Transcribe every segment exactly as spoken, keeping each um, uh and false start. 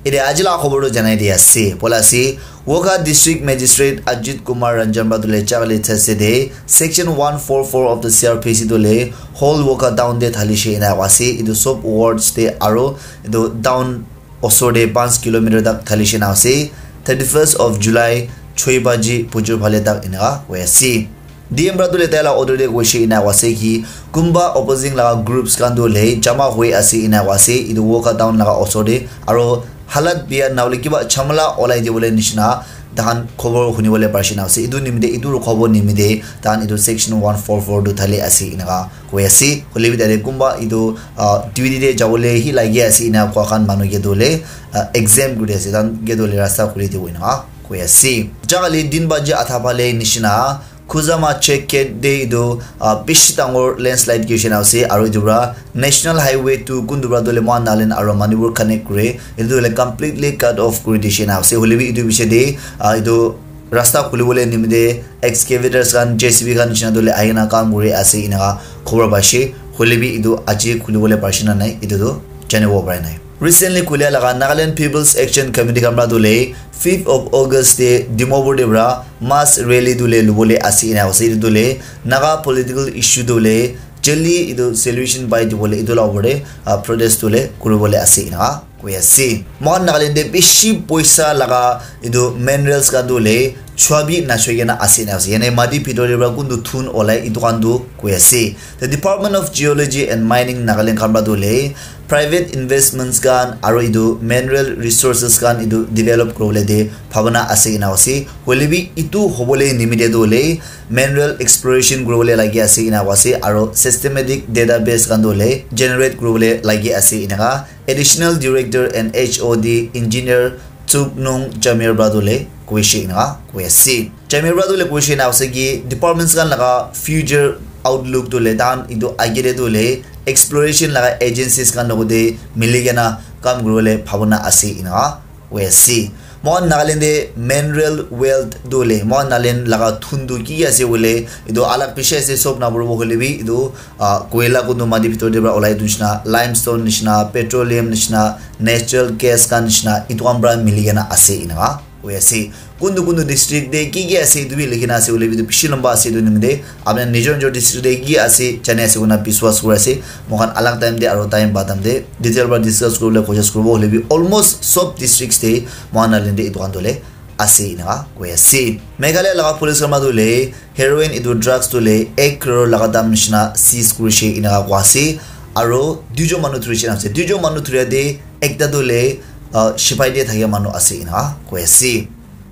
Ede aji la khobor tu janai di ase. Pola ase, Wokha District Magistrate Ajit Kumar Ranjan para tu le chakali thase de, Section one four four of the C R P C tu le whole Wokha town de thali she ina ase. Itu sob wards de aro itu town osor de five kilometer tak thali she na ase. Thirty-first of July, choi baji bujur phale tak ina hoi ase. D M para tu le taila order de koishe ina koa ase ki, kunba opposing laga groups khan tu le jama hoi ase ina koa ase, itu Wokha town laga osor de, aro halat biya nahole kiba chamala olai dibole nishina, tahan khobor hunibole parishe ina ase. Itu nimite, itu khobor nimite, tahan itu section one four four tu thali ase ina koa koi ase. Hoile bi tate kunba itu, ah, duty de jabole hi lagi ase ina koa khan manu ke tu le, ah, exempt kuri ase, tahan ke tu le rasta khuli dibo ina koa koi ase. Jaga le din baji atha phale nishina, Khuzama check gate de itu, ah, bishi dangor landslide kishina ase, aro itu pra National Highway two kuntu pra tu le Mohan Nagaland aro Manipur connect kure, itu le completely cut off kuri dishina ase. Hoile bi itu bishi de, ah, itu rasta khuli bole nimite excavators khan, J C B khan nishina tu le ahina kam kuri ase ina khobor paishe. Hoile bi itu aji khuli bole parishe na nai, itu tu janibo parai nai. Recently khulia laga Nagaland People's Action Committee khan pra tu le fifth of August de Dimapur de pra mass rally tu le lubole ase ina ase. Itu tu le Naga political issue tu le jali itu solution pai dibole itu la opor de, ah, protest tu le kuribole ase ina koi ase. Mohan Nagaland de bishi poisa laga itu minerals khan tu le chua bi nachoi kena ase ina ase. Yane mati bhitor de pra kuntu thun olai itu khan tu koi ase. The Department of Geology and Mining Nagaland khan pra tu le private investments khan aro itu mineral resources khan itu develop kuribole de bhabana ase ina ase. Hoile bi itu hobole nimite tu le mineral exploration kuribole lagi ase ina ase, aro systematic database khan tu le generate kuribole lagi ase ina ka Additional Director and H O D Engineer Tsuknung Jamir pra tu le koishe ina ka koi ase. Jamir pra tu le koishe ina ase ki departments khan laga future outlook tu le tahan itu age de tu le exploration laga agencies khan logote mili kena kam kuribole bhabana ase ina koi ase. Mohan Nagaland de mineral wealth tu le, Mohan Nagaland laga thun tu ki ki ase bole, itu alag bishi ase, sob napuribo hoile bi itu, ah, koila kuntu mati bhitor de pra olai itu nishina, limestone nishina, petroleum nishina, natural gas khan nishina, itu khan pra mili kena ase ina koi ase. Kuntu kuntu district de ki ki ase itu bi likhi na ase, hoile bi itu bishi lamba ase, itu nimite apni nijor nijor district de ki ase jani ase koina biswas kuri ase. Moikhan alag time de aro time pa time de detail pra discuss kuribole koshish kuribo, hoile bi almost sob districts de Mohan Nagaland de itu khan tu le ase ina koi ase. Meghalaya laga police khan pra tu le heroin itu drugs tu le ek crore laga dam nishina seize kurishe ina koi ase. Aro duijon manu dhurishe ase. Duijon manu dhuria de ekta tu le, ah, sipai de thakia manu ase ina koi ase.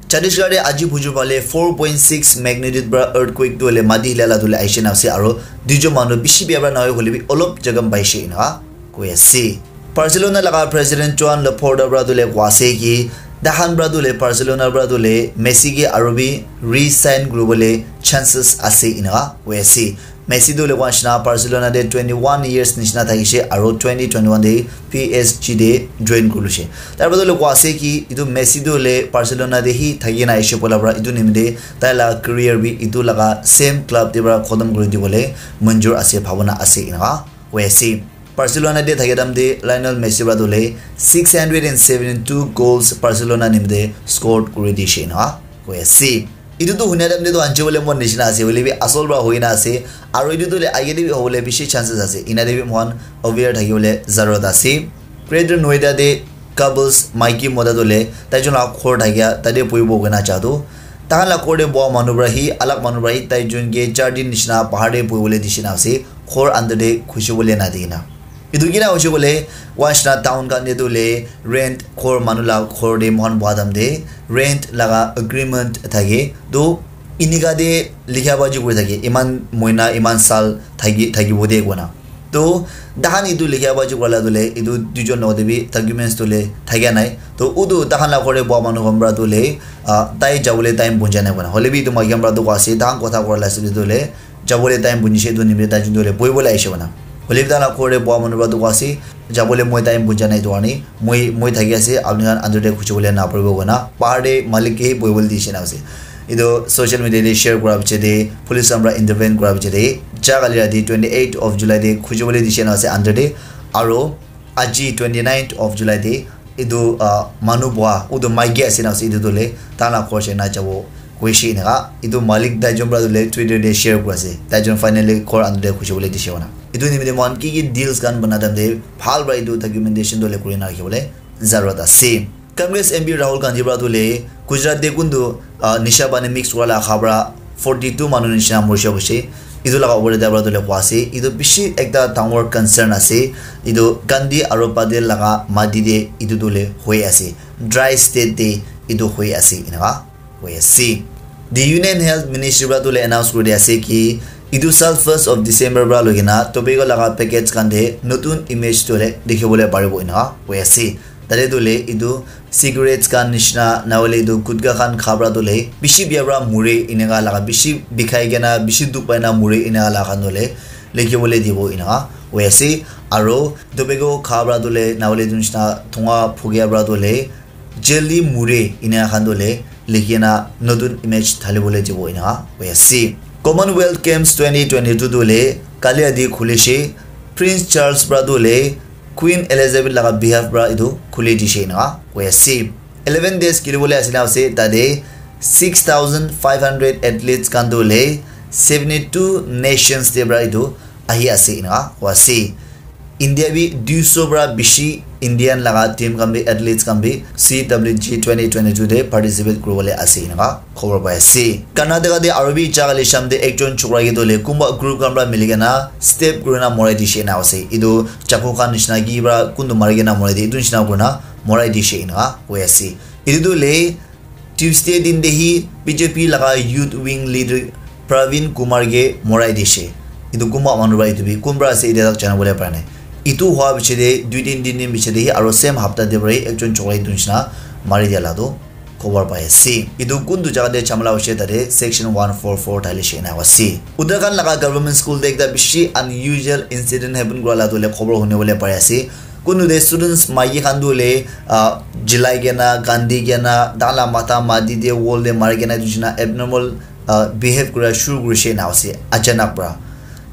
Chhattisgarh de aji bujur phale four point six magnitude pra earthquake tu le mati hila la tu le aishe na ase, aro duijon manu bishi bia pra nahoi hoile bi olop jakham paishe ina koi ase. Barcelona laga president Joan Laporta pra tu le koi ase ki, tahan pra tu le Barcelona pra tu le Messi ke aro bi re-sign kuribole chances ase ina koi ase. Messi tu le koi nishina Barcelona de twenty-one years nishina thakishe, aro twenty twenty-one de P S G de join kurishe. Tar pra tu le koi ase ki itu Messi tu le Barcelona de hi thaki na aishe poila pra itu nimite tai la career bi itu laga same club de pra khotom kuri dibole manjur ase, bhabana ase ina koi ase. Barcelona de thakia time de Lionel Messi pra tu le six hundred and seventy-two goals Barcelona nimite scored kuri dishe ina koi ase. Itu tu hunia time de tu anchi bole mon nishina ase, hoile bi asol pra hoi na ase, aro itu tu le age de bi hobole bishi chances ase. Ina de bi moikhan aware thaki bole zarurat ase. Greater Noida de couples, maiki mota tu le, taijon la ghor thakia, tate bohibo koina ja tu. Tahan la ghor te boha manu pra hi, alak manu pra hi, taijon ke char din nishina bahar te bohibole dishina ase, ghor under te ghusi bole na dikena. Etu kina hoise koile, once na town khan te tu le rent ghor manu la ghor te moikhan boha time te rent laga agreement thake. Tu inika te likha baji kuri thake, iman moina, iman sal thaki, thakibo de koina. To, tahan etu likha baji kurala tu le, etu duijon logote bi documents tu le thakia nai. To, utu tahan la ghor te boha manu khan pra tu le, ah, tai jabole time punja nai koina. Hoile bi etu maiki khan pra tu koa ase, tahan kotha kurala ase tu le, jabole time punjise etu nimite taijun tu le bohibole ahishe koina. Hoile bi tahan la ghor te boha manu pra tu koa ase, jabole moi time punja nai etu karne, moi, moi thaki ase, apni khan under te ghusi bole na paribo koina. Bahar te malik ke bohibole dise na ase. Etu social media te share kura piche te, police khan pra intervene kura piche te, ja kali rati twenty eight of July te ghusi bole dise na ase under te, aro aji twenty nine of July te etu, ah, manu boha, utu maiki ase na ase, etu tu le, tala khor shena jabo, koishe eneka. Etu malik taijon pra tu le, Twitter te share kura ase. Taijon finally khor andu te khushi bole dishe wana. Etu nimite mohan ki ki deals khan bana time te, bhal pra etu documentation tu le kuri na rakhi bole zarurat ase. Congress M P Rahul Gandhi pra tu le, Gujarat te kuntu, ah, nisha pani mix kura la kha pra, forty two manu nishina morishe koishe. Etu laga opor te tai para tu le koa ase. Etu bishi ekta dangor concern ase. Etu Gandhi aro Patel laga mati te etu tu le hoi ase. Dry state te etu hoi ase eneka hoi ase. The Union Health Ministry para tu le announce kuri ase ki etu sal first of December para loi kena tobacco laga packets khan te notun image tu le dikhi bole paribo eneka hoi ase. Tate tu le etu cigarettes khan nishina, na hoile etu gutka khan kha pra tu le bishi bia pra muri eneka laga, bishi bikhai kena, bishi dukh pai na muri eneka laga khan tu le likhi bole dibo eneka hoi ase. Aro tobacco kha pra tu le, na hoile etu nishina thunga phukia pra tu le, jelly muri eneka khan tu le likhi na notun image thali bole dibo eneka hoi ase. Commonwealth Games twenty twenty two tu le kali adi khulishe, Prince Charles pra tu le Queen Elizabeth laga behalf pra etu khuli dishe eneka hoi ase. Eleven days kheli bole ase na ase, tate six thousand five hundred athletes khan tu le seventy two nations te pra etu ahi ase eneka hoi ase. India bi dui so pra bishi Indian laga team khan bi, athletes khan bi C W G twenty twenty two te participate kuri bole ase eneka khobor pai ase. Karnataka te aro bi jaga le sham te ekjon chokra ke tu le kunba group khan pra mili kena step kuri na morai dishe eneka ase. Etu chaku khan nishina ki pra kuntu mari kena morai di, etu nishina kuri na morai dishe eneka hoi ase. Etu tu le Tuesday din te hi B J P laga youth wing leader Praveen Kumar ke morai dishe. Etu kunba manu pra etu bi kunba ase etia tak jana bole para nai. Etu hua piche te dui tin din din piche te hi aro same hapta te pra hi ekjon chokra etu nishina mari dia la tu khobor pai ase. Etu kuntu jaga te jhamala hoishe tate section one four four thalishe eneka ase. Uttarakhand laga government school te ekta bishi unusual incident happen kura la tu le khobor huni bole pari ase. Kuntu te students maiki khan tu le, ah, jilai kena, kandi kena, tai la matha mati te wall te mari kena etu nishina abnormal, ah, behave kura shuru kurishe eneka ase achanak pra.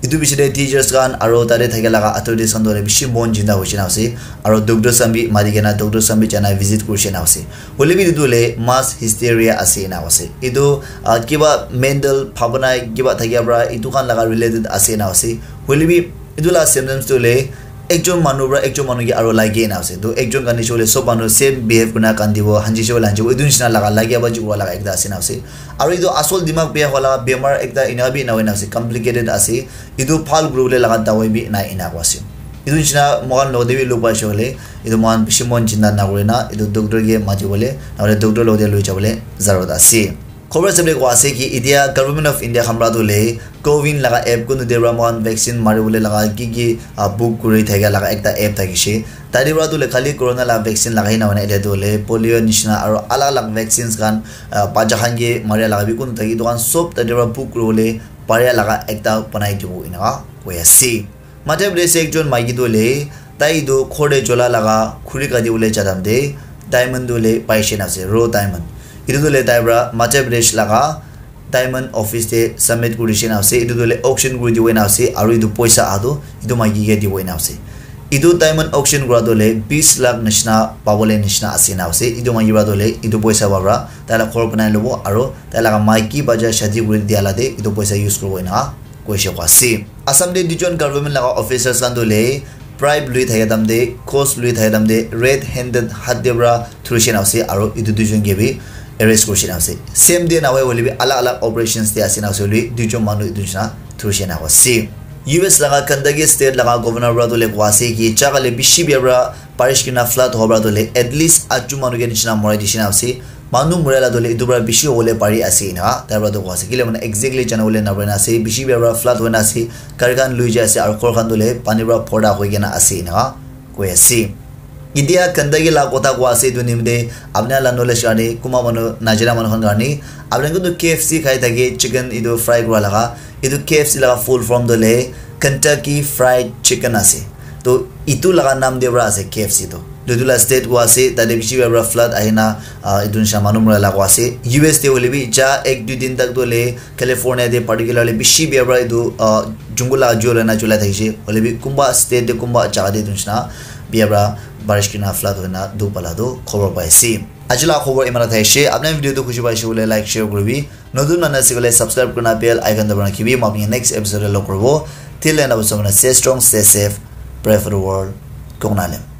Etu piche te teachers khan aro tate thaka laga authorities khan tu hoile bishi mon jinda hoishe na ase. Aro doctors khan bi mari kena, doctors khan bi jana visit kurishe na ase. Hoile bi etu tu hoile mass hysteria ase eneka ase. Etu, ah, kiba mental bhabana kiba thakia pra etu khan laga related ase eneka ase. Hoile bi etu la symptoms tu hoile ekjon manu pra ekjon manu ke aro lage eneka ase. To ekjon kandishe hoile sob manu same behave kurina kandibo, hanjishe hoile hanjibo. Etu nishina laga lage ba jukwa laga ekta ase eneka ase. Aro etu asol dimag bia hola bemar ekta eneka bi eneka hoina ase, complicated ase. Etu bhal kuribole laga dawai bi nai eneka koa ase. Etu nishina moikhan logote bi log paishe hoile, etu moikhan bishi mon chinta nakurina, etu doctor ke matibole, nahoile doctor logote loi jabole zarurat ase. Khobor sabole koa ase ki, etia Government of India khan pra tu hoile, Cowin laga app kuntu te pra moikhan vaccine maribole laga ki ki, ah, book kuri thakia laga ekta app thakishe. Tate pra tu hoile khali corona laga vaccine lagai na hoina etia tu hoile polio nishina aro alag alag vaccines khan, ah, bacha khan ke maria laga bi kuntu thaki etu khan sob tate pra book kuribole paria laga ekta banai dibo eneka koi ase. Madhya Pradesh te ekjon maiki tu hoile tai etu ghor te chola laga khuri kati bole ja time te diamond tu hoile paishe na ase, raw diamond. Etu tu hoile tai pra Madhya Pradesh laga diamond office te submit kurishe na ase. Etu tu hoile auction kuri dibo na ase, aru etu poisa aha tu etu maiki ke dibo na ase. Etu diamond auction kura tu hoile bis lakh nishina pabole nishina ase na ase. Etu maiki pra tu hoile etu poisa pra tai la ghor banai lobo aru tai laga maiki bacha shadi kuri dia la te etu poisa use kuribo eneka koishe koa ase. Assam te duijon government laga officers khan tu hoile bribe lui thaka time te, cost lui thaka time te, red handed hath te pra thurishe na ase, aru etu duijon ke bi arrest kurishe na ase. Same day na hoi hoile bi alag alag operations te ase na ase hoile bi duijon manu etu nishina thurishe na ase. U S laga Kentucky state laga governor pra tu hoile koa ase ki jaga le bishi bia pra barish kurina flood howa pra tu hoile at least atjo manu ke nishina morai dishe na ase. Manu muria la tu hoile etu pra bishi hobole pari ase eneka tai pra tu koa ase. Kile mane exactly jana bole na pare na ase. Bishi bia pra flood hoina ase. Gari khan lui jai ase aru ghor khan tu hoile pani pra bhorta hoi kena ase eneka koi ase. India Kentucky la kotha koa ase etu nimite apni khan la knowledge karne, kunba manu najana manu khan karne, apni khan tu K F C khai thake chicken etu fry kura laga, etu K F C laga full form tu hoile Kentucky Fried Chicken ase. To etu laga naam te para ase K F C to. Etu la state koa ase, tate bishi bhal para flood ahina, ah, etu nisna manu mura la koa ase. U S te hoile bi ja ek dui din tak to hoile California te particularly bishi bhal para etu, ah, jungle la jol hoina cholai thakishe. Hoile bi kunba state te kunba jaga te etu nisna bia pra barish kurina flood hoina dukh pala tu khobor pai ase. Aji la khobor imana thai ase. Apni video tu khushi paise koile like, share kuribi. Notun manu ase koile subscribe kurina bell icon dabai rakhibi. Moi apni next episode te log kuribo. Till then, stay strong, stay safe, pray for the world. Kong Nalem.